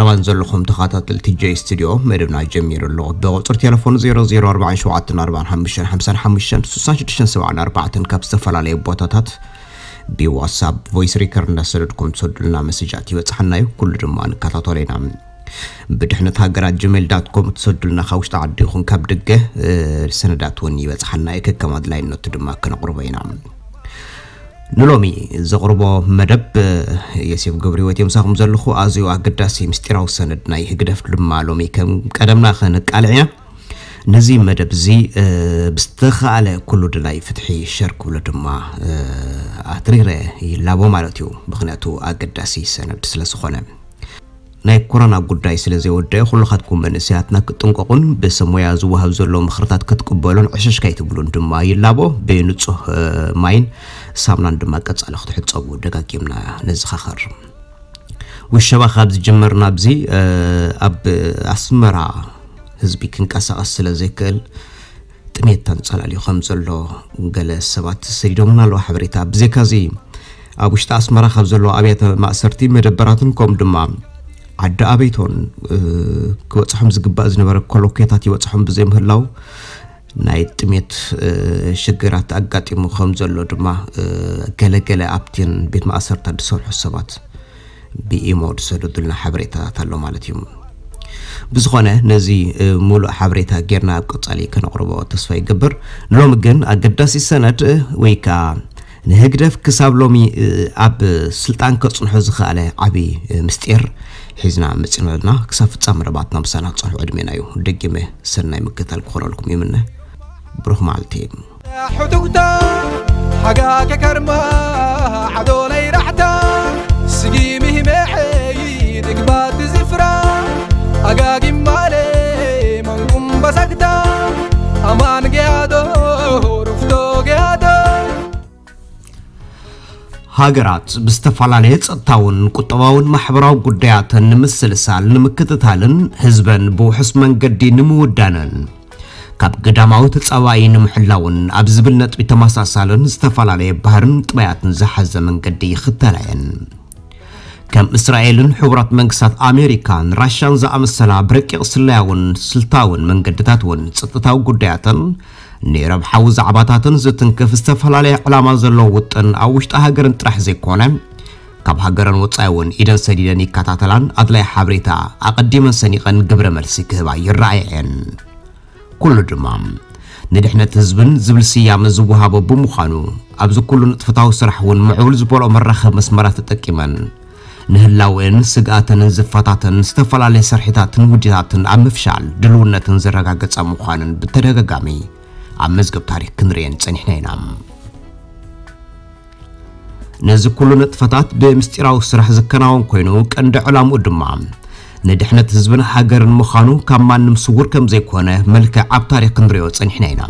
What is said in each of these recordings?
ረባን ዘለኹም ተኸታተልቲ ጀይ ስቱዲዮ፣ መደብና ጀሚሩ ኣሎ። ብቁፅሪ ቴሌፎን ዜሮ ዜሮ ኣርባዕተ ሸውዓተ ኣርባዕተ ሓሙሽተ ሓምሳ ሓሙሽተ ስሳ ሽዱሽተ ሰብዓ ኣርባዕተ ካብ ዝተፈላለዩ ቦታታት ብዋትሳፕ ቮይስ ሪከርድ እንዳሰደድኩም ትሰዱልና መሰጃት ይበፅሓና እዩ። ኩሉ ድማ ንከታተሎ ኢና። ብድሕነት ሃገራት ጂሜል ዳት ኮም ትሰዱልና ካብ ውሽጢ ዓዲ ይኹን ካብ ደገ፣ እ፣ ሰነዳት እውን ይበፅሓና እዩ። ከከም ኣድላይነቱ ድማ ክነቕርቦ ኢና። ንሎሚ ዘቕርቦ መደብ፣ እ፣ የሴፍ ገብረህይወት የምሳኹም ዘለኹ። ኣዝዩ ኣገዳሲ ምስጢራዊ ሰነድ ናይ ህግደፍ ድማ ሎሚ ከም ቀደምና ከነቃልዕ ኢና። ነዚ መደብ እዚ፣ እ፣ ብዝተኻእለ ኩሉ ደላይ ፍትሒ ሸር ክብሎ ድማ፣ እ፣ ኣትሪረ ይላቦ ማለት እዩ። ምኽንያቱ ኣገዳሲ ሰነድ ስለ ዝኾነ። ናይ ኮሮና ጉዳይ ስለ ዘይወደአ ኩልኻትኩም መንእሰያትና ክትጥንቀቑን ብሰብ ሞያ ዝወሃብ ዘሎ ምኽርታት ክትቅበሉን ዕሸሽ ከይትብሉን ድማ ይላቦ። ብንጹህ፣ እ፣ ማይን ሳሙናን ድማ ቀጻሊ ክትሕጸቡ ደጋጊምና ነዘኻኸር። ውሸባ ካብ ዝጅመር ናብዚ፣ እ፣ ኣብ ኣስመራ ህዝቢ ክንቀሳቐስ ስለ ዘይክእል ጥሜት ተንጸላልዩ ከም ዘሎ ገለ ሰባት ሰዲዶምና ኣለዉ ሓበሬታ። ብዘይካዚ ኣብ ውሽጢ ኣስመራ ካብ ዘለዉ ኣብያተ ማእሰርቲ መደበራትን ከምኡ ድማ ዓዲ ኣበይቶን፣ እ፣ ክበጽሖም ዝግባእ ዝነበረ ኮሎኬታት ይበጽሖም ብዘይምህላው ናይ ጥሜት፣ እ፣ ሽግራት ኣጋጢሙ ከም ዘሎ ድማ፣ እ፣ ገለገለ ኣብቲን ቤት ማእሰርታት ዝሰርሑ ሰባት ብኢሞ ዝሰደዱልና ሓበሬታታት ኣሎ ማለት እዩ። ብዝኾነ ነዚ፣ እ፣ ሙሉእ ሓበሬታ ጌርና ኣብ ቀጻሊ ከነቕርቦ ተስፋ ይገብር። ንሎሚ ግን ኣገዳሲ ሰነድ፣ እ፣ ወይ ከኣ ንህግደፍ ክሳብ ሎሚ፣ እ፣ ኣብ ስልጣን ከጽንሖ ዝኸኣለ ዓቢ፣ እ፣ ምስጢር ሒዝና መጺና ኣለና። ክሳብ ፍጻመ መደባትና ምሳና ክትጸንሑ ዕድሜና እዩ። ደጊመ ሰናይ ምክትታል ክኾነልኩም ይምነ። ብሩኽ መዓልቲ። ሕቱግታ ሓጋገ ከርማ ዓዶ ናይ ራሕታ ስጊሚ ህመዐይ ድግባት ዝፍራ ኣጋጊም ማለ መንቁም በሳግታ ኣማን ገያዶ ሩፍቶ ገያዶ። ሃገራት ብዝተፈላለየ ጸጥታውን ቁጠባውን ማሕበራዊ ጉዳያተን ንምስልሳል ንምክትታልን ህዝበን ብውሑስ መንገዲ ንምውዳንን ካብ ግዳማዊ ተጻባኢ ንምሕላውን ኣብ ዝብል ነጥቢ ተመሳሳልን ዝተፈላለየ ባህርን ጥባያትን ዝሓዘ መንገዲ ይኽተላ እየን። ከም እስራኤልን ሕቡራት መንግስታት ኣሜሪካን ራሻን ዝኣመሰላ ብረቂቕ ስለያውን ስልታውን መንገድታት እውን ጸጥታዊ ጉዳያትን ንረብሓዊ ዛዕባታትን ዝትንክፍ ዝተፈላለየ ዕላማ ዘለዎ ውጥን ኣብ ውሽጢ ሃገርን ጥራሕ ዘይኮነ ካብ ሃገረን ወጻኢ እውን ኢደን ሰዲደን ይከታተላን ኣድላይ ሓበሬታ ኣቐዲመን ሰኒቐን ግብረ መልሲ ክህባ ይረኣያ እየን። ኩሉ ድማ ንድሕነት ህዝብን ዝብል ስያመ ዝወሃቦ ብምዃኑ ኣብዚ ኩሉ ንጥፈታዊ ስራሕ እውን ምዕቡል ዝበልኦ መራኸቢ መስመራት ተጠቂመን ንህላወን ስግኣተንን ዝፈታተን ዝተፈላለየ ስርሒታትን ውዲታትን ኣብ ምፍሻል ድልውነትን ዘረጋገጻ ምዃነን ብተደጋጋሚ ኣብ መዝገብ ታሪኽ ክንርእየን ጸኒሕና ኢና። ነዚ ኩሉ ንጥፈታት ብምስጢራዊ ስራሕ ዝከናወን ኮይኑ ቀንዲ ዕላምኡ ድማ ንድሕነት ህዝብን ሃገርን ምዃኑ ካብ ማንም ስውር ከም ዘይኮነ መልክዕ ኣብ ታሪኽ ክንሪኦ ጸኒሕና ኢና።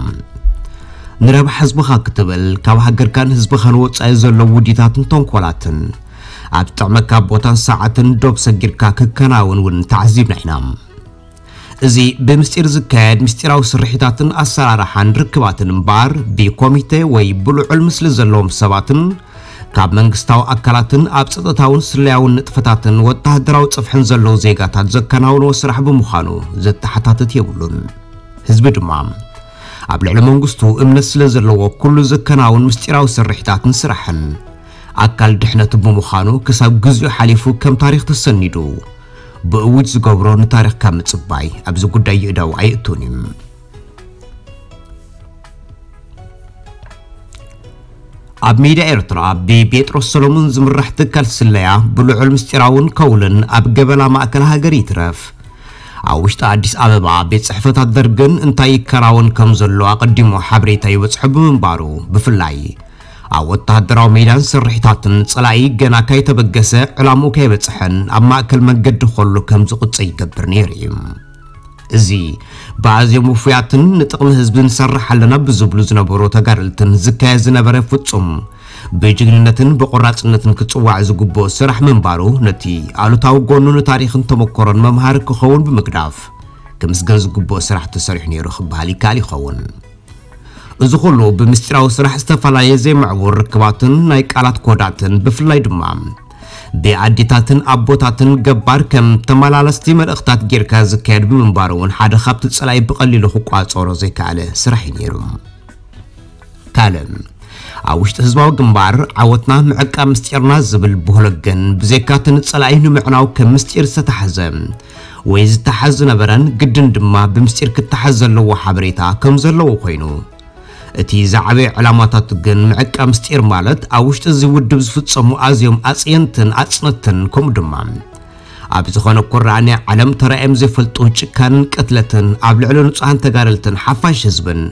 ንረብሓ ህዝብኻ ክትብል ካብ ሃገርካን ህዝብኻን ወጻኢ ዘለዉ ውዲታትን ተንኮላትን ኣብ ዝጥዕመካ ቦታን ሰዓትን ዶብ ሰጊርካ ክከናወን እውን ተዓዚብና ኢና። እዚ ብምስጢር ዝካየድ ምስጢራዊ ስርሒታትን ኣሰራርሓን ርክባትን እምበኣር ብኮሚቴ ወይ ብልዑል ምስሊ ዘለዎም ሰባትን ካብ መንግስታዊ ኣካላትን ኣብ ጸጥታውን ስለያውን ንጥፈታትን ወተሃደራዊ ጽፍሕን ዘለዉ ዜጋታት ዘከናውንዎ ስራሕ ብምዃኑ ዘተሓታትት የብሉን። ህዝቢ ድማ ኣብ ልዕሊ መንግስቱ እምነት ስለ ዘለዎ ኩሉ ዘከናውን ምስጢራዊ ስርሒታትን ስራሕን ኣካል ድሕነቱ ብምዃኑ ክሳብ ግዚኡ ሓሊፉ ከም ታሪኽ ተሰኒዱ ብእውጅ ዝገብሮ ንታሪኽ ካብ ምጽባይ ኣብዚ ጉዳይ ይእዳው ኣየእቱን እዩ። ኣብ ሚድያ ኤርትራ ብጴጥሮስ ሰሎሞን ዝምራሕ ትካል ስለያ ብልዑል ምስጢራውን ከውልን ኣብ ገበላ ማእከል ሃገር ይትረፍ ኣብ ውሽጢ ኣዲስ ኣበባ ቤት ጽሕፈታት ደርግን እንታይ ይከናወን ከም ዘሎ ኣቐዲሙ ሓበሬታ ይበጽሖ ብምንባሩ ብፍላይ ኣብ ወተሃደራዊ ሜዳን ስርሒታትን ጸላኢ ገና ካይተበገሰ ዕላምኡ ካይበጽሐን ኣብ ማእከል መንገዲ ከሎ ከም ዝቕጸ ይገብር ነይሩ እዩ። እዚ ብኣዝዮም ውፉያትን ንጥቕሚ ህዝቢ ንሰርሕ ኣለና ብዝብሉ ዝነበሩ ተጋደልትን ዝካየድ ዝነበረ ፍጹም ብጅግንነትን ብቆራጽነትን ክጽዋዕ ዝግብኦ ስራሕ ምንባሩ ነቲ ኣሉታዊ ጎኑ ንታሪኽን ተመኮሮን መምሃሪ ክኸውን ብምግዳፍ ክምስገን ዝግብኦ ስራሕ ተሰሪሑ ነይሩ ክበሃል ይከኣል ይኸውን። እዚ ኩሉ ብምስጢራዊ ስራሕ ዝተፈላለየ ዘይምዕቡር ርክባትን ናይ ቃላት ኮዳትን ብፍላይ ድማ ብኣዴታትን ኣቦታትን ገባር ከም ተመላለስቲ መልእኽታት ጌርካ ዝካየድ ብምንባሩ እውን ሓደ ካብቲ ጸላኢ ብቐሊሉ ክቋጸሮ ዘይከኣለ ስራሕ እዩ ነይሩ። ካልእ፣ ኣብ ውሽጢ ህዝባዊ ግንባር ዓወትና ምዕቃብ ምስጢርና ዝብል ብህሎ ግን ብዘይካ እቲ ንጸላኢ ንምዕናው ከም ምስጢር ዝተታሕዘ ወይ ዝተሓዝ ዝነበረን ግድን ድማ ብምስጢር ክተሓዝ ዘለዎ ሓበሬታ ከም ዘለዎ ኮይኑ፣ እቲ ዝዓበየ ዕላማታቱ ግን ምዕቃብ ምስጢር ማለት ኣብ ውሽጢ እዚ ውድብ ዝፍጸሙ ኣዝዮም ኣጽየንትን ኣጽነትን ከምኡ ድማ ኣብ ዝኾነ ኩራዕ ናይ ዓለም ተራእዮም ዘይፈልጡ ጭካንን ቅትለትን ኣብ ልዕሊ ንጹሃን ተጋደልትን ሓፋሽ ህዝብን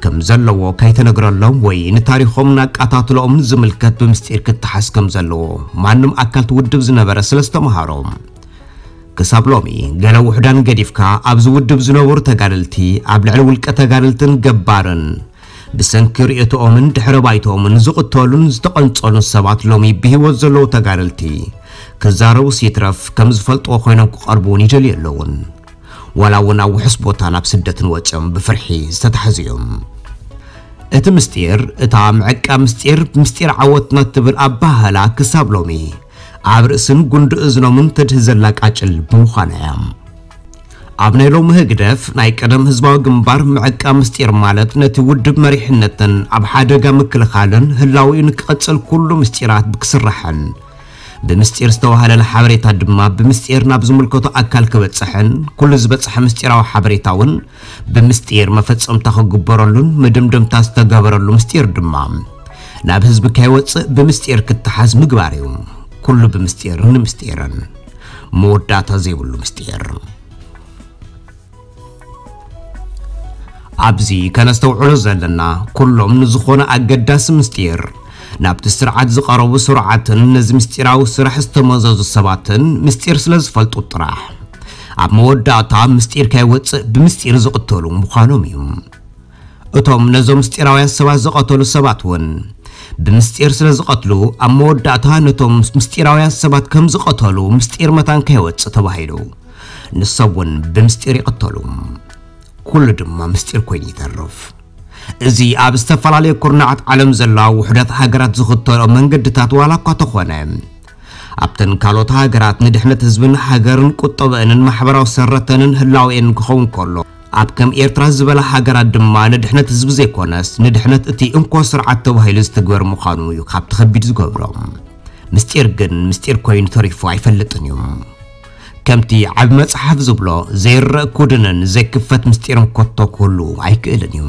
ከም ዘለዎ ከይተነግረሎም ወይ ንታሪኾምን ኣቃታትሎኦምን ዝምልከት ብምስጢር ክተሓዝ ከም ዘለዎ ማንም ኣካልቲ ውድብ ዝነበረ ስለ ዝተምሃሮ፣ ክሳብ ሎሚ ገለ ውሑዳን ገዲፍካ ኣብዚ ውድብ ዝነበሩ ተጋደልቲ ኣብ ልዕሊ ውልቀ ተጋደልትን ገባርን ብሰንኪ ርእየቶኦምን ድሕረ ባይቶኦምን ዝቕተሉን ዝተቐንጸሉን ሰባት ሎሚ ብህይወት ዘለዉ ተጋደልቲ ክዛረቡስ ይትረፍ ከም ዝፈልጥዎ ኮይኖም ክቐርቡ እውን ይደልዩ ኣለውን። ዋላ እውን ኣብ ውሑስ ቦታ ናብ ስደትን ወጺኦም ብፍርሒ ዝተታሕዙ እዮም። እቲ ምስጢር፣ እታ ምዕቃብ ምስጢር፣ ምስጢር ዓወትና እትብል ኣበሃህላ ክሳብ ሎሚ ኣብ ርእስን ጉንዲ እዝኖምን ተድህዘላ ቃጭል ብምዃና እያ። ኣብ ናይ ሎሚ ህግደፍ ናይ ቀደም ህዝባዊ ግንባር ምዕቃብ ምስጢር ማለት ነቲ ውድብ መሪሕነትን ኣብ ሓደጋ ምክልኻልን ህላዊኡ ንክቐጽል ኩሉ ምስጢራት ብክስራሕን ብምስጢር ዝተዋህለለ ሓበሬታ ድማ ብምስጢር ናብ ዝምልከቶ ኣካል ክበጽሕን ኩሉ ዝበጽሐ ምስጢራዊ ሓበሬታ እውን ብምስጢር መፈጸምታ ክግበረሉን መደምደምታ ዝተገበረሉ ምስጢር ድማ ናብ ህዝቢ ከይወጽእ ብምስጢር ክተሓዝ ምግባር እዩ። ኩሉ ብምስጢር ንምስጢርን መወዳእታ ዘይብሉ ምስጢር። ኣብዚ ከነስተውዕሎ ዘለና ኩሎም ንዝኾነ ኣገዳሲ ምስጢር ናብቲ ስርዓት ዝቐረቡ ስሩዓትን ነዚ ምስጢራዊ ስራሕ ዝተመዘዙ ሰባትን ምስጢር ስለ ዝፈልጡ ጥራሕ ኣብ መወዳእታ ምስጢር ከይወጽእ ብምስጢር ዝቕተሉ ምዃኖም እዩ። እቶም ነዞም ምስጢራውያን ሰባት ዝቐተሉ ሰባት እውን ብምስጢር ስለ ዝቐትሉ ኣብ መወዳእታ ነቶም ምስጢራውያን ሰባት ከም ዝቐተሉ ምስጢር መታን ከይወጽእ ተባሂሉ ንሶም እውን ብምስጢር ይቐተሉ። ኩሉ ድማ ምስጢር ኮይኑ ይተርፍ። እዚ ኣብ ዝተፈላለዩ ኩርናዓት ዓለም ዘለዋ ውሑዳት ሃገራት ዝኽተሎ መንገድታት ዋላ እኳ ተኾነ ኣብተን ካልኦት ሃገራት ንድሕነት ህዝብን ሃገርን ቁጠበአንን ማሕበራዊ ሰረተንን ህላዌን ክኸውን ከሎ ኣብ ከም ኤርትራ ዝበላ ሃገራት ድማ ንድሕነት ህዝቢ ዘይኮነስ ንድሕነት እቲ እንኮ ስርዓት ተባሂሉ ዝትግበር ምዃኑ እዩ ካብቲ ከቢድ ዝገብሮ። ምስጢር ግን ምስጢር ኮይኑ ተሪፉ ኣይፈልጥን እዩ። ከምቲ ዓቢ መጽሓፍ ዝብሎ ዘይረእ ኩድንን ዘይክፈት ምስጢርን ኮቶ ክህሉ ኣይክእልን እዩ።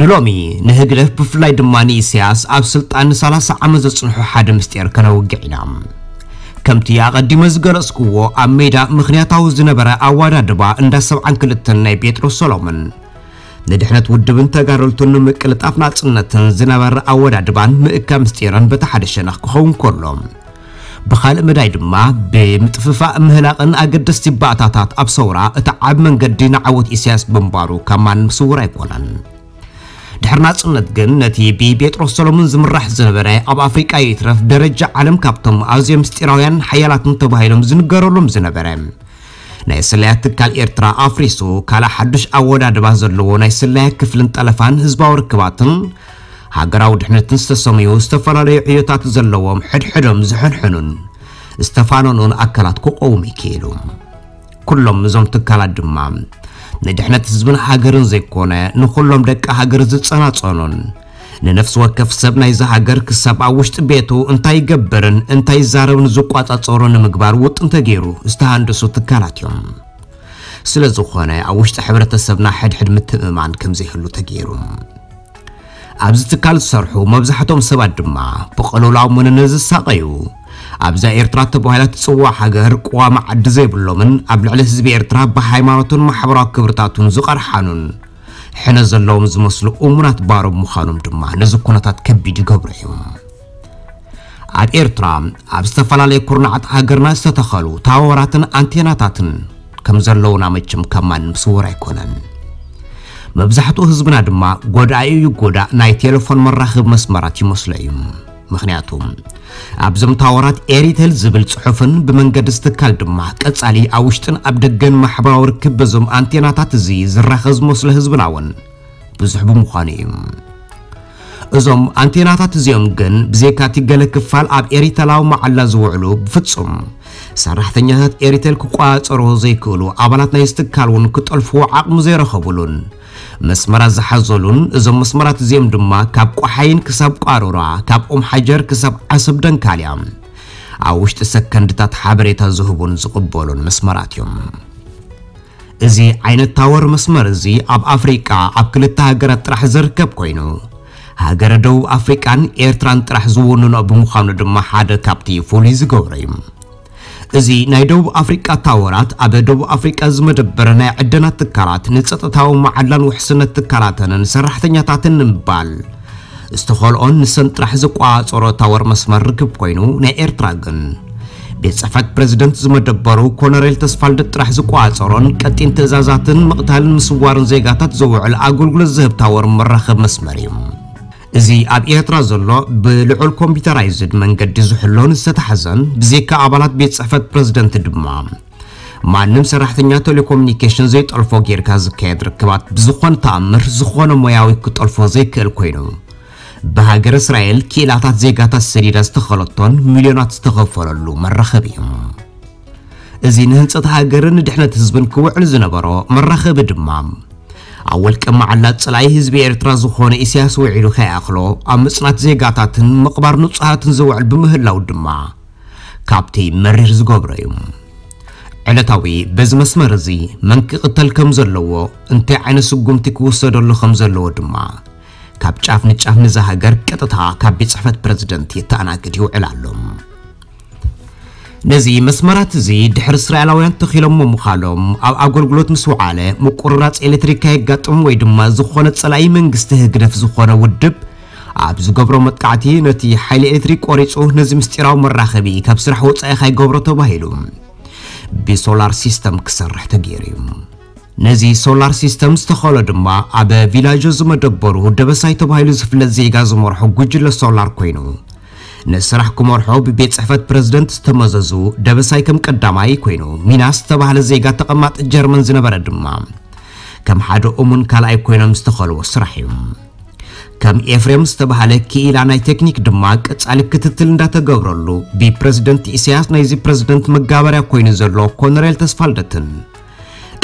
ንሎሚ ንህግደፍ ብፍላይ ድማ ንኢሳያስ ኣብ ስልጣን ንሰላሳ ዓመት ዘጽንሑ ሓደ ምስጢር ከነውግዕ ኢና። ከምቲ ኣቐዲመ ዝገለጽክዎ ኣብ ሜዳ ምኽንያታዊ ዝነበረ ኣወዳድባ እንዳ ሰብዓን ክልተን ናይ ጴጥሮስ ሰሎሞን ንድሕነት ውድብን ተጋደልቱን ንምቅልጣፍ ናጽነትን ዝነበረ ኣወዳድባን ምእካ ምስጢርን በቲ ሓደ ሸነኽ ክኸውን ከሎ ብኻልእ መዳይ ድማ ብምጥፍፋእ ምህላቕን ኣገደስቲ ባእታታት ኣብ ሰውራ እቲ ዓብ መንገዲ ንዓወት ኢሳያስ ብምንባሩ ካብ ማንም ስውር ኣይኮነን። ድሕሪ ናጽነት ግን ነቲ ብቤጥሮስ ሰሎሞን ዝምራሕ ዝነበረ ኣብ ኣፍሪቃ ይትረፍ ደረጃ ዓለም ካብቶም ኣዝዮም ምስጢራውያን ሓያላትን ተባሂሎም ዝንገረሎም ዝነበረ ናይ ስለያ ትካል ኤርትራ ኣፍሪሱ ካልእ ሓዱሽ ኣወዳድባ ዘለዎ ናይ ስለያ ክፍልን ጠለፋን ህዝባዊ ርክባትን ሃገራዊ ድሕነትን ዝተሰምዩ ዝተፈላለዩ ዕዮታት ዘለዎም ሕድሕዶም ዝሕንሕኑን ዝተፋነኑን ኣካላት ክቆውም ይክእሉ። ኩሎም እዞም ትካላት ድማ ንድሕነት ህዝብን ሃገርን ዘይኮነ ንኹሎም ደቂ ሃገር ዝጸናጸኑን ንነፍሲ ወከፍ ሰብ ናይዚ ሃገር ክሳብ ኣብ ውሽጢ ቤቱ እንታይ ይገብርን እንታይ ይዛረብን ዝቋጻጸሩ ንምግባር ውጥን ተገይሩ ዝተሃንደሱ ትካላት እዮም። ስለ ዝኾነ ኣብ ውሽጢ ሕብረተሰብና ሕድሕድ ምትእምማን ከም ዘይህሉ ተገይሩ። ኣብዚ ትካል ዝሰርሑ መብዛሕትኦም ሰባት ድማ ብቐለላዊ መንነት ዝሳቐዩ ኣብዛ ኤርትራ ተባሂላ ትጽዋዕ ሃገር ቅዋም ዓዲ ዘይብሎምን ኣብ ልዕሊ ህዝቢ ኤርትራ ብሃይማኖቱን ማሕበራዊ ክብርታቱን ዝቐርሓኑን ሕነ ዘለዎም ዝመስሉ እሙናት ባሮም ምዃኖም ድማ ነዚ ኩነታት ከቢድ ይገብሮ እዩ። ኣብ ኤርትራ ኣብ ዝተፈላለዩ ኩርናዓት ሃገርና ዝተተኸሉ ታወራትን ኣንቴናታትን ከም ዘለውና መቸም ካብ ማንም ስውር ኣይኮነን። መብዛሕትኡ ህዝብና ድማ ጎዳኢ ይጎዳእ ናይ ቴሌፎን መራኸቢ መስመራት ይመስሎ እዩ። ምኽንያቱ ኣብዞም ታወራት ኤሪቴል ዝብል ጽሑፍን ብመንገዲ ዝትካል ድማ ቀጻሊ ኣብ ውሽጥን ኣብ ደገን ማሕበራዊ ርክብ በዞም ኣንቴናታት እዚ ዝራኸ ዝመስሎ ህዝብና እውን ብዙሕ ብምዃኑ እዩ። እዞም ኣንቴናታት እዚኦም ግን ብዘይካቲ ገለ ክፋል ኣብ ኤሪተላዊ መዓላ ዝውዕሉ ብፍጹም ሰራሕተኛታት ኤሪቴል ክቋጸሮ ዘይክእሉ ኣባላት ናይ ዝትካል እውን ክጠልፍዎ ዓቕሚ ዘይረኸቡሉን መስመራት ዝሓዘሉን እዞም መስመራት እዚኦም ድማ ካብ ቆሓይን ክሳብ ቋሩራ ካብ ኦም ሓጀር ክሳብ ዓሰብ ደንካልያ ኣብ ውሽጢ ሰከንድታት ሓበሬታ ዝህቡን ዝቕበሉን መስመራት እዮም። እዚ ዓይነት ታወር መስመር እዚ ኣብ ኣፍሪቃ ኣብ ክልተ ሃገራት ጥራሕ ዝርከብ ኮይኑ ሃገረ ደቡብ ኣፍሪቃን ኤርትራን ጥራሕ ዝውንኖ ብምዃኑ ድማ ሓደ ካብቲ ፍሉይ ዝገብሮ እዩ። እዚ ናይ ደቡብ ኣፍሪቃ ታወራት ኣብ ደቡብ ኣፍሪቃ ዝመደበረ ናይ ዕደና ትካላት ንጸጥታዊ መዓላን ውሕስነት ትካላተንን ሰራሕተኛታትን ንምባል ዝተኸልኦን ንሰን ጥራሕ ዝቋጸሮ ታወር መስመር ርክብ ኮይኑ ናይ ኤርትራ ግን ቤት ጽሕፈት ፕሬዝደንት ዝመደበሩ ኮነሬል ተስፋልደት ጥራሕ ዝቋጸሮን ቀጢን ትእዛዛትን ምቕታልን ምስዋርን ዜጋታት ዘውዕል ኣገልግሎት ዝህብ ታወር መራኸብ መስመር እዩ። እዚ ኣብ ኤርትራ ዘሎ ብልዑል ኮምፒውተራይዝድ መንገዲ ዝሕሎን ዝተታሕዘን ብዘይካ ኣባላት ቤት ጽሕፈት ፕሬዝደንት ድማ ማንም ሰራሕተኛ ቴሌኮሙኒኬሽን ዘይጠልፎ ጌርካ ዝካየድ ርክባት ብዝኾነ ተኣምር ዝኾነ ሞያዊ ክጠልፎ ዘይክእል ኮይኑ ብሃገር እስራኤል ክኢላታት ዜጋታት ሰዲዳ ዝተኸለቶን ሚልዮናት ዝተኸፈለሉ መራኸቢ እዩ። እዚ ንህንጸት ሃገርን ንድሕነት ህዝብን ክውዕል ዝነበሮ መራኸቢ ድማ ኣብ ወልቀ መዓላ ጸላኢ ህዝቢ ኤርትራ ዝኾነ ኢሳያስ ውዒሉ ከይኣኽሎ ኣብ ምጽናት ዜጋታትን ምቕባር ንጹሃትን ዝውዕል ብምህላው ድማ ካብቲ መሪር ዝገብሮ እዩ። ዕለታዊ በዚ መስመር እዚ መን ክቕተል ከም ዘለዎ እንታይ ዓይነት ስጉምቲ ክውሰደሉ ከም ዘለዎ ድማ ካብ ጫፍ ንጫፍ ንዛ ሃገር ቀጥታ ካብ ቤት ጽሕፈት ፕሬዝደንት የተኣናግድ ይውዕል ኣሎ። ነዚ መስመራት እዚ ድሕሪ እስራኤላውያን ተኺሎሞ ምዃሎም ኣብ ኣገልግሎት ምስ ውዓለ ምቁርራፅ ኤሌክትሪክ ከየጋጥም ወይ ድማ ዝኾነ ፀላኢ መንግስቲ ህግደፍ ዝኾነ ውድብ ኣብ ዝገብሮ መጥቃዕቲ ነቲ ሓይሊ ኤሌክትሪክ ቆሪፁ ነዚ ምስጢራዊ መራኸቢ ካብ ስራሕ ወፃኢ ካይገብሮ ተባሂሉ ብሶላር ሲስተም ክሰርሕ ተገይሩ እዩ። ነዚ ሶላር ሲስተም ዝተኸሎ ድማ ኣብ ቪላጆ ዝመደበሩ ደበሳይ ተባሂሉ ዝፍለጥ ዜጋ ዝመርሖ ጉጅለ ሶላር ኮይኑ ንስራሕ ክመርሖ ብቤት ጽሕፈት ፕረዚደንት ዝተመዘዙ ደበሳይ ከም ቀዳማይ ኮይኑ ሚናስ ዝተባህለ ዜጋ ተቐማጢ ጀርመን ዝነበረ ድማ ከም ሓደ እሙን ካልኣይ ኮይኖም ዝተኸልዎ ስራሕ እዩ። ከም ኤፍሬም ዝተባህለ ክኢላ ናይ ቴክኒክ ድማ ቀጻሊ ክትትል እንዳተገብረሉ ብፕረዚደንት ኢሳያስ ናይዚ ፕረዚደንት መጋበርያ ኮይኑ ዘሎ ኮነሬል ተስፋልደትን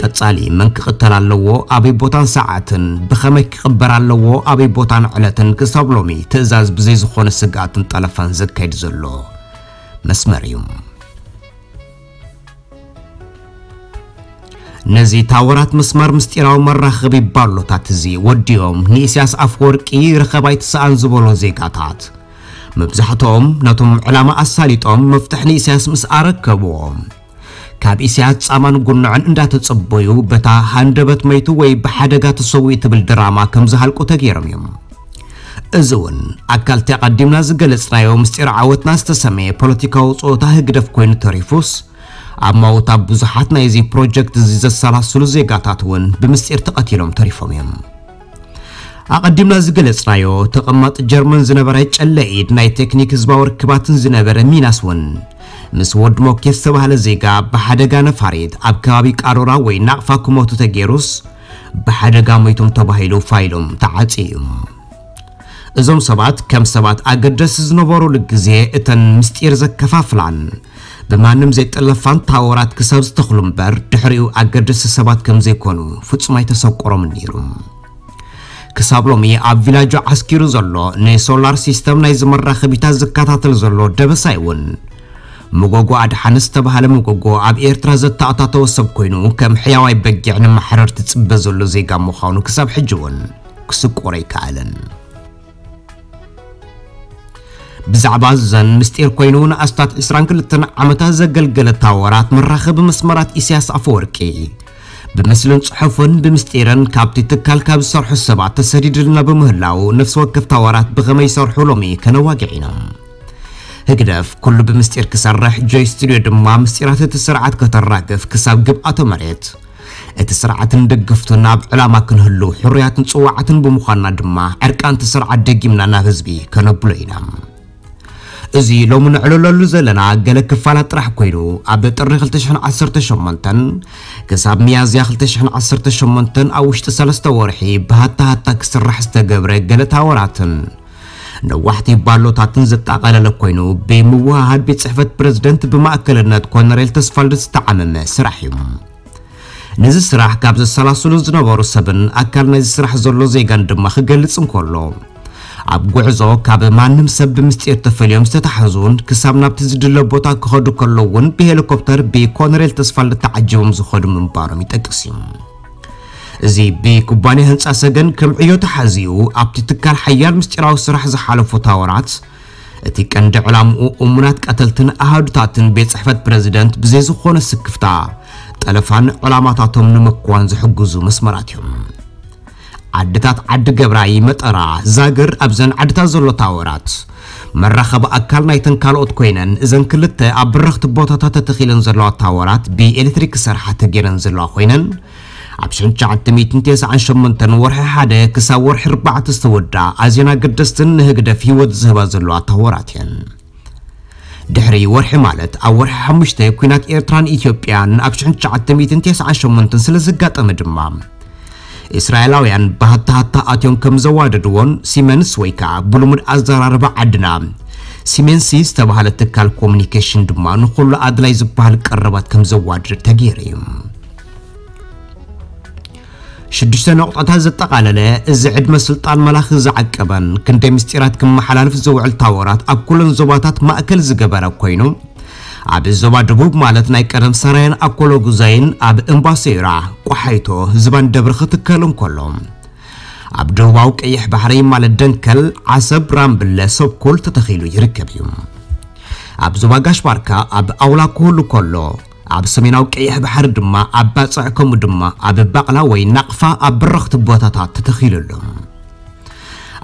ቀጻሊ መን ክቕተል ኣለዎ ኣበይ ቦታን ሰዓትን ብኸመይ ክቕበር ኣለዎ ኣበይ ቦታን ዕለትን ክሳብ ሎሚ ትእዛዝ ብዘይ ዝኾነ ስግኣትን ጠለፋን ዘካይድ ዘሎ መስመር እዩ። ነዚ ታወራት መስመር ምስጢራዊ መራኸቢ ባሎታት እዚ ወዲኦም ንኢሳያስ ኣፈወርቂ ርኸባ ኣይትስኣን ዝበሎ ዜጋታት መብዛሕትኦም ነቶም ዕላማ ኣሳሊጦም መፍትሕ ንኢሳያስ ምስ ኣረከብዎ ካብ ኢሳያስ ጻማን ጉንዕን እንዳተጸበዩ በታ ሃንደበት መይቱ ወይ ብሓደጋ ተሰዊኡ ትብል ድራማ ከም ዝሃልቁ ተገይሮም እዮም። እዚ እውን ኣካልቲ ኣቐዲምና ዝገለጽናዮ ምስጢር ዓወትና ዝተሰመየ ፖለቲካዊ ጸወታ ህግደፍ ኮይኑ ተሪፉስ ኣብ ማውታ ብዙሓት ናይዚ ፕሮጀክት እዚ ዘሰላስሉ ዜጋታት እውን ብምስጢር ተቐቲሎም ተሪፎም እዮም። ኣቐዲምና ዝገለጽናዮ ተቐማጢ ጀርመን ዝነበረ ጨለ ኢድ ናይ ቴክኒክ ህዝባዊ ርክባትን ዝነበረ ሚናስ እውን ምስ ወዲ ሞኬ ዝተባህለ ዜጋ ብሓደጋ ነፋሪት ኣብ ከባቢ ቃሮራ ወይ ናቕፋ ክሞቱ ተገይሩስ ብሓደጋ ሞይቶም ተባሂሉ ፋይሎም ተዓጽዩ እዩ። እዞም ሰባት ከም ሰባት ኣገደስቲ ዝነበሩሉ ግዜ እተን ምስጢር ዘከፋፍላን ብማንም ዘይጠለፋን ታወራት ክሳብ ዝተኽሉ እምበር ድሕሪኡ ኣገደስቲ ሰባት ከም ዘይኮኑ ፍጹም ኣይተሰቆሮምን ነይሩ። ክሳብ ሎሚ ኣብ ቪላጆ ዓስኪሩ ዘሎ ንሶላር ሲስተም ናይ ዝመራኸቢታት ዝከታተል ዘሎ ደበሳይ እውን መጎጎ ኣድሓነ ዝተባህለ መጎጎ ኣብ ኤርትራ ዘተኣታተወ ሰብ ኮይኑ ከም ሕያዋይ በጊዕ ንማሕረር ትጽበ ዘሎ ዜጋ ምዃኑ ክሳብ ሕጂ እውን ክስቆሮ ኣይከኣለን። ብዛዕባ ዘን ምስጢር ኮይኑ ንኣስታት ዕስራን ክልተን ዓመታት ዘገልገለ ታወራት መራኸቢ መስመራት ኢሳያስ ኣፈወርቂ ብምስልን ጽሑፍን ብምስጢርን ካብቲ ትካል ካብ ዝሰርሑ ሰባት ተሰዲድልና ብምህላው ነፍሲ ወከፍ ታወራት ብኸመይ ይሰርሑ ሎሚ ከነዋግዕ ኢና። ህግደፍ ኩሉ ብምስጢር ክሰርሕ ጆይ ስቱድዮ ድማ ምስጢራት እቲ ስርዓት ከተራግፍ ክሳብ ግብኣተ መሬት እቲ ስርዓትን ደገፍቱን ኣብ ዕላማ ክንህሉ ሕሩያትን ጽዋዓትን ብምዃንና ድማ ዕርቃንቲ ስርዓት ደጊምና ናብ ህዝቢ ከነብሎ ኢና። እዚ ሎሚ ንዕልለሉ ዘለና ገለ ክፋላት ጥራሕ ኮይኑ፣ ኣብ ጥሪ ክልተ ሽሕን ዓሰርተ ሸሞንተን ክሳብ ሚያዝያ ክልተ ሽሕን ዓሰርተ ሸሞንተን ኣብ ውሽጢ ሰለስተ ወርሒ ብሃታ ሃታ ክስራሕ ዝተገብረ ገለ ታወራትን ነዋሕቲ ባሎታትን ዘጠቓለለ ኮይኑ፣ ብምውህሃድ ቤት ጽሕፈት ፕረዚደንት ብማእከልነት ኮነሬል ተስፋልደት ዝተዓመመ ስራሕ እዩ። ነዚ ስራሕ ካብ ዘሰላስሉ ዝነበሩ ሰብን ኣካል ናይዚ ስራሕ ዘሎ ዜጋን ድማ ክገልጽ እንከሎ፣ ኣብ ጉዕዞ ካብ ማንም ሰብ ብምስጢር ተፈልዮም ዝተታሕዙን ክሳብ ናብቲ ዝድለ ቦታ ክኸዱ ከለዉ እውን ብሄሊኮፕተር ብኮነሬል ተስፋልደት ተዓጂቦም ዝኸዱ ምንባሮም ይጠቅስ እዩ። እዚ ብኩባንያ ህንጻ ሰገን ከም ዕዮ ተሓዚኡ ኣብቲ ትካል ሓያል ምስጢራዊ ስራሕ ዝሓለፉ ታወራት፣ እቲ ቀንዲ ዕላምኡ እሙናት ቀተልትን ኣሃዱታትን ቤት ጽሕፈት ፕረዚደንት ብዘይ ዝኾነ ስክፍታ ጠለፋን ዕላማታቶም ንምክዋን ዝሕግዙ መስመራት እዮም። ዓድታት ዓዲ ገብራይ፣ መጠራ፣ ዛግር ኣብዘን ዓድታት ዘሎ ታወራት መራኸቢ ኣካል ናይተን ካልኦት ኮይነን፣ እዘን ክልተ ኣብ ብረኽቲ ቦታታት ተተኺለን ዘለዋ ታወራት ብኤሌክትሪክ ክሰርሓ ተገይረን ዘለዋ ኮይነን፣ ኣብ ሽሕን ትሽዓተ ሚእትን ተስዓን ሸሞንተን ወርሒ ሓደ ክሳብ ወርሒ ኣርባዕተ ዝተወድኣ ኣዝየን ኣገደስትን ንህግደፍ ህይወት ዝህባ ዘለዋ ታወራት እየን። ድሕሪ ወርሒ ማለት ኣብ ወርሒ ሓሙሽተ ኲናት ኤርትራን ኢትዮጵያን ኣብ ሽሕን ትሽዓተ ሚእትን ተስዓን ሸሞንተን ስለ ዘጋጠመ ድማ፣ እስራኤላውያን ብሃታ ሃታ ኣትዮም ከም ዘዋደድዎን ሲመንስ ወይ ከዓ ብልሙድ ኣዘራርባ ዓድና ሲሜንሲ ዝተባህለ ትካል ኮሙኒኬሽን ድማ ንኹሉ ኣድላይ ዝበሃል ቀረባት ከም ዘዋድድ ተገይሩ እዩ። ሽዱሽተ ነቑጣታት ዘጠቓለለ እዚ ዕድመ ስልጣን መላኺ ዝዓቀበን ክንደይ ምስጢራት ክመሓላልፍ ዝውዕል ታወራት ኣብ ኩለን ዞባታት ማእከል ዝገበረ ኮይኑ፣ ኣብ ዞባ ደቡብ ማለት ናይ ቀደም ሰራየን ኣኮሎጉዛይን ኣብ እምባሴራ፣ ቆሓይቶ፣ ዝባን ደብሪ ክትከል እንከሎ፣ ኣብ ደቡባዊ ቀይሕ ባሕሪ ማለት ደንከል፣ ዓሰብ፣ ራምብለ፣ ሰብኩል ተተኺሉ ይርከብ እዩ። ኣብ ዞባ ጋሽ ባርካ ኣብ ኣውላ ክህሉ ከሎ፣ ኣብ ሰሜናዊ ቀይሕ ባሕሪ ድማ ኣብ ባጽዕ ከምኡ ድማ ኣብ ባቕላ ወይ ናቕፋ ኣብ ብረኽቲ ቦታታት ተተኺሉ ኣሎ።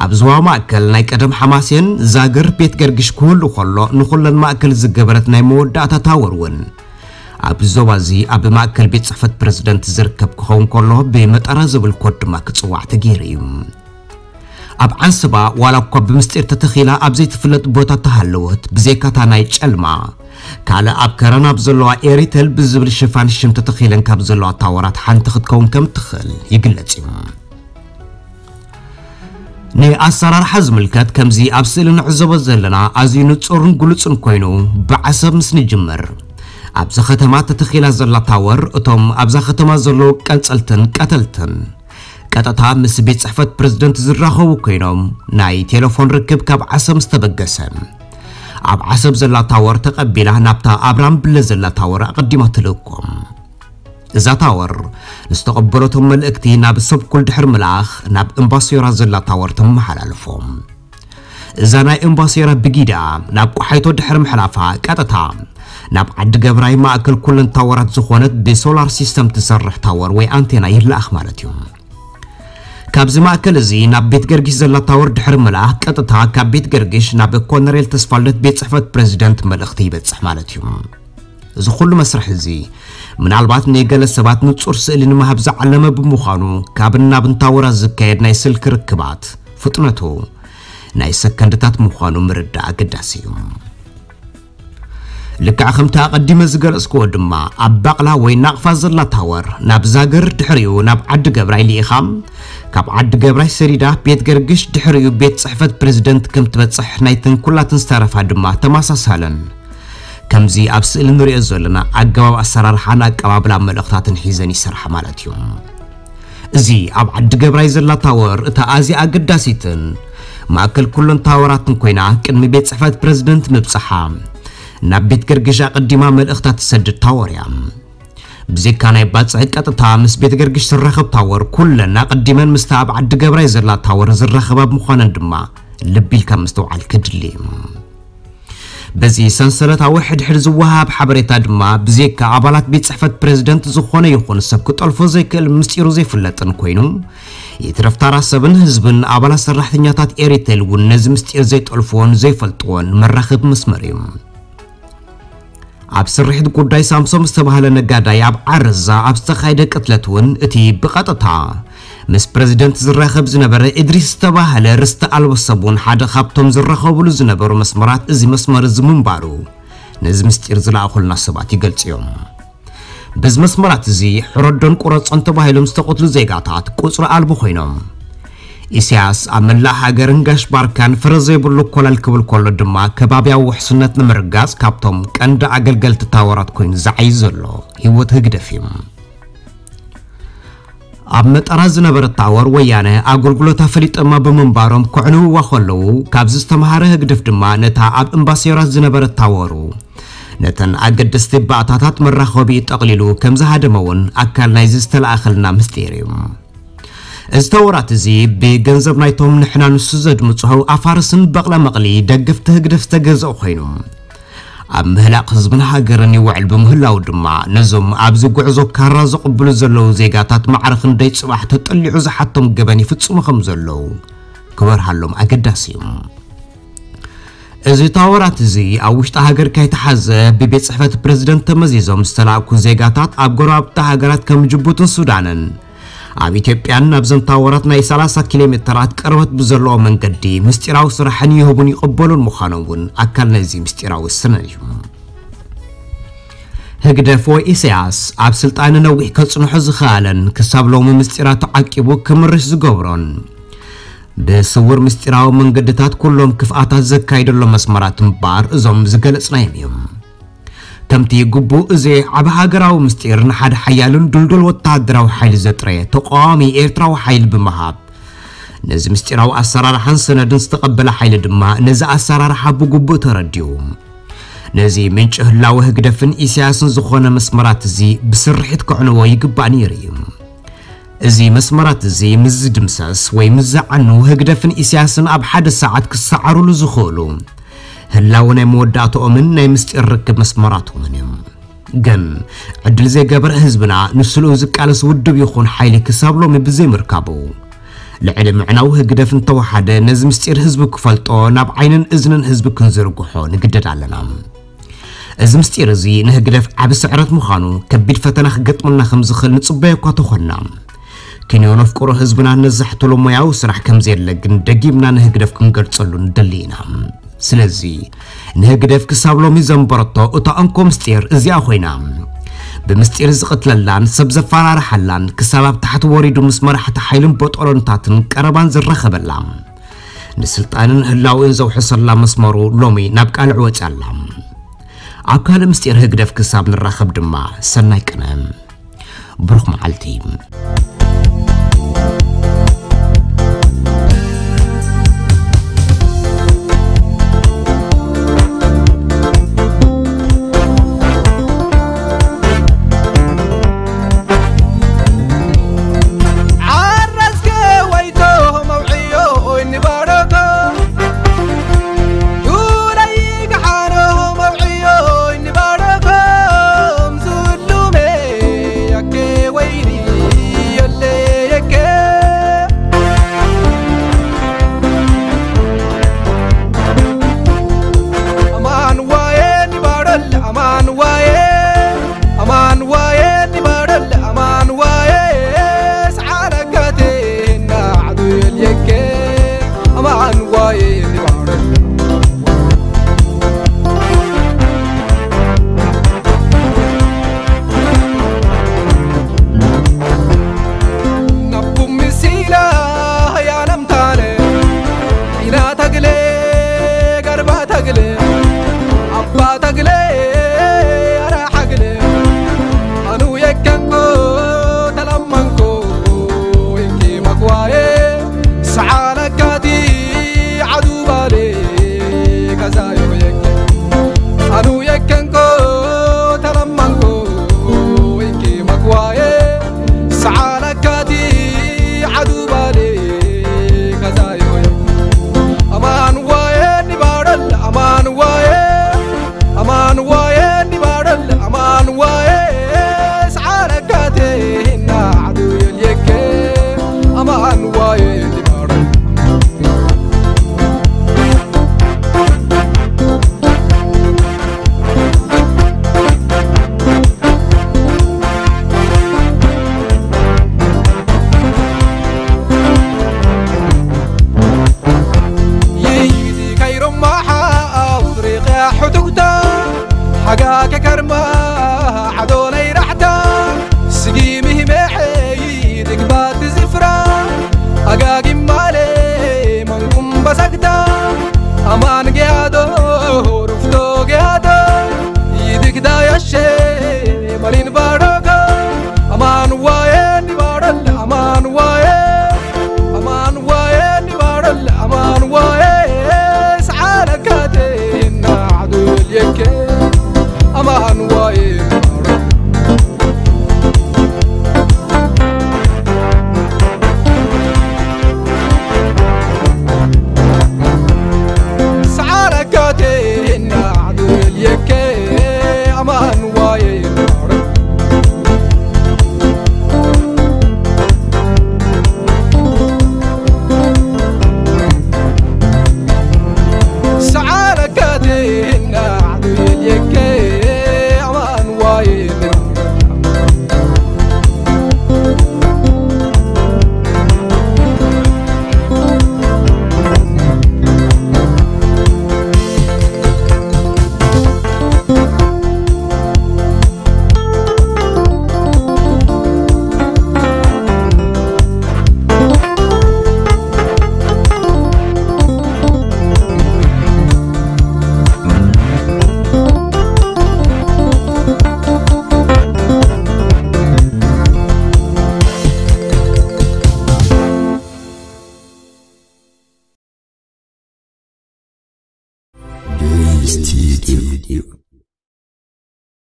ኣብ ዞባ ማእከል ናይ ቀደም ሓማሴን ዛግር ቤት ገርግሽ ክህሉ ከሎ፣ ንኹለን ማእከል ዝገበረት ናይ መወዳእታ ታወር እውን ኣብ ዞባ እዚ ኣብ ማእከል ቤት ጽሕፈት ፕረዚደንት ዝርከብ ክኸውን ከሎ፣ ብመጠራ ዝብል ኮድ ድማ ክጽዋዕ ተገይሩ እዩ። ኣብ ዓንስባ ዋላ እኳ ብምስጢር ተተኺላ ኣብ ዘይትፍለጥ ቦታ ተሃለወት፣ ብዘይካታ ናይ ጨልማ ካልእ ኣብ ከረን ኣብ ዘለዋ ኤሪተል ብዝብል ሽፋን ሽም ተተኺለን ካብ ዘለዋ ታወራት ሓንቲ ክትከውን ከም ትኽእል ይግለጽ እዩ። ንኣሰራርሓ ዝምልከት ከምዚ ኣብ ስእሊ ንዕዘቦ ዘለና ኣዝዩ ንጹርን ግሉጽን ኮይኑ፣ ብዓሰብ ምስ ንጅምር ኣብዛ ከተማ ተተኺላ ዘላ ታወር እቶም ኣብዛ ከተማ ዘለዉ ቀንጸልትን ቀተልትን ቀጥታ ምስ ቤት ጽሕፈት ፕረዚደንት ዝራኸቡ ኮይኖም፣ ናይ ቴሌፎን ርክብ ካብ ዓሰብ ምስ ተበገሰ፣ ኣብ ዓሰብ ዘላ ታወር ተቐቢላ ናብታ ኣብ ራምብለ ዘላ ታወር ኣቐዲማ ትልእኮም። እዛ ታወር ንዝተቐበለቶም መልእክቲ ናብ ሰብኩል ድሕሪ ምልኣኽ ናብ እምባሶራ ዘላ ታወር ተመሓላልፎም። እዛ ናይ እምባሴራ ብጊዳ ናብ ቆሓይቶ ድሕሪ ምሕላፋ ቀጥታ ናብ ዓዲ ገብራይ ማእከል ኩለን ታወራት ዝኾነት ብሶላር ሲስተም ትሰርሕ ታወር ወይ ኣንቴና ይለኣኽ ማለት እዩ። ካብዚ ማእከል እዚ ናብ ቤት ገርጊሽ ዘላ ታወር ድሕሪ ምልኣኽ ቀጥታ ካብ ቤት ገርጊሽ ናብ ኮነሬል ተስፋልደት ቤት ጽሕፈት ፕረዚደንት መልእኽቲ ይበጽሕ ማለት እዩ። እዚ ኩሉ መስርሕ እዚ ምናልባት ንገለ ሰባት ንጹር ስእሊ ንምሃብ ዝዓለመ ብምዃኑ፣ ካብን ናብን ታወራት ዝካየድ ናይ ስልኪ ርክባት ፍጥነቱ ናይ ሰከንድታት ምዃኑ ምርዳእ ኣገዳሲ እዩ። ልክዕ ከምቲ ኣቐዲመ ዝገለጽክዎ ድማ፣ ኣብ ባቕላ ወይ ናቕፋ ዘላ ታወር ናብ ዛግር፣ ድሕሪኡ ናብ ዓዲ ገብራይ ልኢኻ፣ ካብ ዓዲ ገብራይ ሰዲዳ ቤት ገርግሽ፣ ድሕሪኡ ቤት ጽሕፈት ፕረዚደንት ከም ትበጽሕ፣ ናይተን ኩላተን ዝተረፋ ድማ ተመሳሳለን ከምዚ ኣብ ስእሊ ንሪኦ ዘለና ኣገባብ ኣሰራርሓን ኣቀባብላ መልእኽታትን ሒዘን ይሰርሓ ማለት እዩ። እዚ ኣብ ዓዲ ገብራይ ዘላ ታወር እታ ኣዝያ ኣገዳሲትን ማእከል ኩለን ታወራትን ኮይና፣ ቅድሚ ቤት ጽሕፈት ፕረዚደንት ምብጽሓ ናብ ቤት ገርግሽ ኣቐዲማ መልእኽታ ትሰድድ ታወር እያ። ብዘይካ ናይ ባጽዕ ቀጥታ ምስ ቤት ገርግሽ ትራኸብ ታወር፣ ኩለን ኣቐዲመን ምስታ ኣብ ዓዲ ገብራይ ዘላ ታወር ዝራኸባ ብምዃነን ድማ ልቢ ኢልካ ምስትውዓል ከድሊ እዩ። በዚ ሰንሰለታዊ ሕድሕድ ዝወሃብ ሓበሬታ ድማ፣ ብዘይካ ኣባላት ቤት ጽሕፈት ፕረዚደንት፣ ዝኾነ ይኹን ሰብ ክጠልፎ ዘይክእል ምስጢሩ ዘይፍለጥን ኮይኑ፣ ይትረፍ ታራ ሰብን ህዝብን ኣባላት ሰራሕተኛታት ኤሪቴል እውን ነዚ ምስጢር ዘይጠልፍዎን ዘይፈልጥዎን መራኸቢ መስመር እዩ። ኣብ ስርሒት ጉዳይ ሳምሶም ዝተባህለ ነጋዳይ ኣብ ዓረዛ ኣብ ዝተኻየደ ቅትለት እውን እቲ ብቐጥታ ምስ ፕረዚደንት ዝራኸብ ዝነበረ እድሪስ ዝተባህለ ርስቲ ኣልቦ ሰብ እውን ሓደ ካብቶም ዝራኸብሉ ዝነበሩ መስመራት እዚ መስመር እዚ ምንባሩ ነዚ ምስጢር ዝለኣኹልና ሰባት ይገልጹ እዮም። በዚ መስመራት እዚ ሕረዶን ቁረጾን ተባሂሎም ዝተቐትሉ ዜጋታት ቁጽሪ ኣልቦ ኮይኖም፣ ኢሳያስ ኣብ መላእ ሃገርን ጋሽ ባርካን ፍረ ዘይብሉ ኮለል ክብል ከሎ ድማ፣ ከባብያዊ ውሕስነት ንምርጋጽ ካብቶም ቀንዲ ኣገልገልቲ ታወራት ኮይኑ ዝዓዪ ዘሎ ህይወት ህግደፍ እዩ። ኣብ መጠራ ዝነበረት ታወር ወያነ ኣገልግሎታ ፈሊጦማ ብምንባሮም ከዕንውዋ ከለዉ፣ ካብዚ ዝተምሃረ ህግደፍ ድማ ነታ ኣብ እምባሴራት ዝነበረት ታወሩ ነተን ኣገደስቲ ባእታታት መራኸቢ ጠቕሊሉ ከም ዝሃደመ እውን ኣካል ናይዚ ዝተለኣኸልና ምስጢር እዩ። እዚ ተወራት እዚ ብገንዘብ ናይቶም ንሕና ንሱ ዘድምፅሆ ኣፋርስን በቕለ መቕሊ ደገፍቲ ህግደፍ ዝተገዝኦ ኮይኑ፣ ኣብ ምህላቕ ህዝብን ሃገርን ይውዕል ብምህላው ድማ፣ ነዞም ኣብዚ ጉዕዞ ካራ ዘቕብሉ ዘለዉ ዜጋታት ማዕረ ክንደይ ጽባሕ ተጠሊዑ ዝሓቶም ገበን ይፍጽሙ ከም ዘለዉ ክበርሃሎም ኣገዳሲ እዩ። እዚ ታወራት እዚ ኣብ ውሽጢ ሃገር ከይተሓዘ ብቤት ጽሕፈት ፕረዚደንት ተመዚዞም ዝተላእኩ ዜጋታት ኣብ ጎረባብቲ ሃገራት ከም ጅቡትን ሱዳንን ኣብ ኢትዮጵያን ናብዘን ታወራት ናይ ሰላሳ ኪሎ ሜተራት ቅርበት ብዘለዎ መንገዲ ምስጢራዊ ስራሕን ይህቡን ይቕበሉን ምዃኖም እውን ኣካል ናይዚ ምስጢራዊ ሰነድ እዩ። ህግደፍ ወይ ኢሳያስ ኣብ ስልጣን ነዊሕ ከጽንሖ ዝኸኣለን ክሳብ ሎሚ ምስጢራቱ ዓቂቡ ክምርሽ ዝገብሮን ብስውር ምስጢራዊ መንገድታት ኩሎም ክፍኣታት ዘካይደሎም መስመራት እምበኣር እዞም ዝገለጽናዮም እዮም። ከምቲ ግቡእ እዚ ዓቢ ሃገራዊ ምስጢር ንሓደ ሓያልን ድልዱል ወተሃደራዊ ሓይሊ ዘጥረየ ተቃዋሚ ኤርትራዊ ሓይሊ ብምሃብ፣ ነዚ ምስጢራዊ ኣሰራርሓን ሰነድን ዝተቐበለ ሓይሊ ድማ ነዚ ኣሰራርሓ ብግቡእ ተረዲኡ፣ ነዚ ምንጪ ህላወ ህግደፍን ኢሳያስን ዝኾነ መስመራት እዚ ብስርሒት ከዕንዎ ይግባእ ነይሩ እዩ። እዚ መስመራት እዚ ምስ ዝድምሰስ ወይ ምስ ዝዓኑ፣ ህግደፍን ኢሳያስን ኣብ ሓደ ሰዓት ክሰዓሩሉ ዝኽእሉ ህላወ ናይ መወዳእትኦምን ናይ ምስጢር ርክብ መስመራቶምን እዩ። ግን ዕድል ዘይገበረ ህዝብና ንስልኡ ዝቃለስ ውድብ ይኹን ሓይሊ ክሳብ ሎሚ ብዘይምርካቡ፣ ልዕሊ ምዕናው ህግደፍ እንተወሓደ ነዚ ምስጢር ህዝቢ ክፈልጦ ናብ ዓይንን እዝንን ህዝቢ ክንዝርግሖ ንግደድ ኣለና። እዚ ምስጢር እዚ ንህግደፍ ዓቢ ስዕረት ምዃኑ ከቢድ ፈተና ክገጥመና ከም ዝኽእል ንጽበዮ እኳ ተኾንና፣ ክንዮ ነፍቅሮ ህዝብና ነዛሕትሎ ሞያዊ ስራሕ ከም ዘየለ ግን ደጊምና ንህግደፍ ክንገልጸሉ ንደሊ ኢና። ስለዚ ንህግደፍ ክሳብ ሎሚ ዘንበረቶ እታ እንኮ ምስጢር እዚኣ ኮይና፣ ብምስጢር ዝቕትለላን ሰብ ዘፈራርሓላን ክሳብ ኣብ ታሕቲ ወሪዱ ምስ መራሕቲ ሓይልን ቦጦሎንታትን ቀረባን ዝራኸበላ፣ ንስልጣንን ህላውእን ዘውሕሰላ መስመሩ ሎሚ ናብ ቃልዕ ወጺኣ ኣላ። ኣብ ካልእ ምስጢር ህግደፍ ክሳብ ንራኸብ ድማ ሰናይ ቅነ። ብሩኽ መዓልቲ። ከከርማ ዓዶ ናይ ራሕታ ስጊሚ ህመዐይ ድግባት ዝፍራ ኣጋጊም ማለ መንኩም በሰግታ ኣማን ገያዶ ሩፍቶ ገያዶ ይድግዳ ያሸ መሊን ባሮጎ ኣማን ዋየ ኒባረል ኣማን ዋየ ኣማን ዋየ ኒባረል ኣማን ዋየ ሰዓለካቴ ናዕዱል የኬ ኣማን ዋየ ኒባረል ሰዓለካቴ ናዕዱል የኬ ኣማን ዋየ